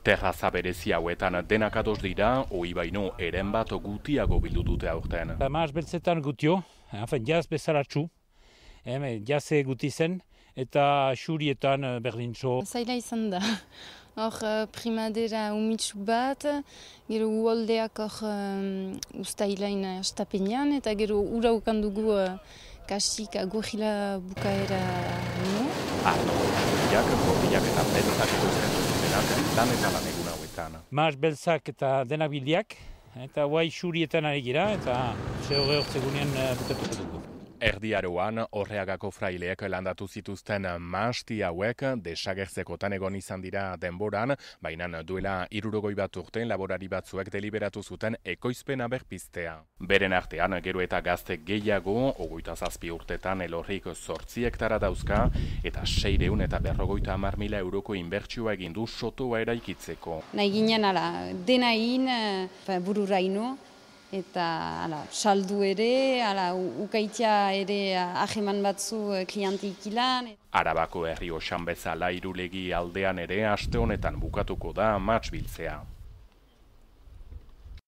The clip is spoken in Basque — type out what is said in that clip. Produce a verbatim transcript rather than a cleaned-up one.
Terraza berezi hauetan denak ados dira, ohi baino eren bat gutiago bildu dute aurten. Maas beltzetan gutio, hafen jaz bezaratxu, jaze guti zen, eta xurietan berdintxo. Zaila izan da. Hor primadera umitsu bat, gero uoldeak hor um, ustailain astapenean, eta gero ura ukan dugu uh, kasik agorila bukaera no. Arno, jak, gordiak eta beltzak ikusten zutenak lan eta lan egun hauetan. Maas beltzak eta denak bildiak, eta guai xurietan ari gira, eta zehore hortzegunean bukatuko dugu. Erdiaroan, Orreagako fraileek landatu zituzten mahasti hauek desagertzekotan egon izan dira denboran, baina duela hirurogei bat urte laborari batzuek deliberatu zuten ekoizpena berpiztea. Beren artean, gero eta gazte gehiago, hogeita zazpi urtetan elorrik zortzi hektara dauzka, eta seireun eta berrogeita hamar mila euroko inbertsioa egin du sotoa eraikitzeko. Nahi ginen ala, dena egin bururaino, eta ala, saldu ere, ala, ukaitia ere aheman batzu klientik ilan. Arabako herri osan bezala Irulegi aldean ere aste honetan bukatuko da mahats biltzea.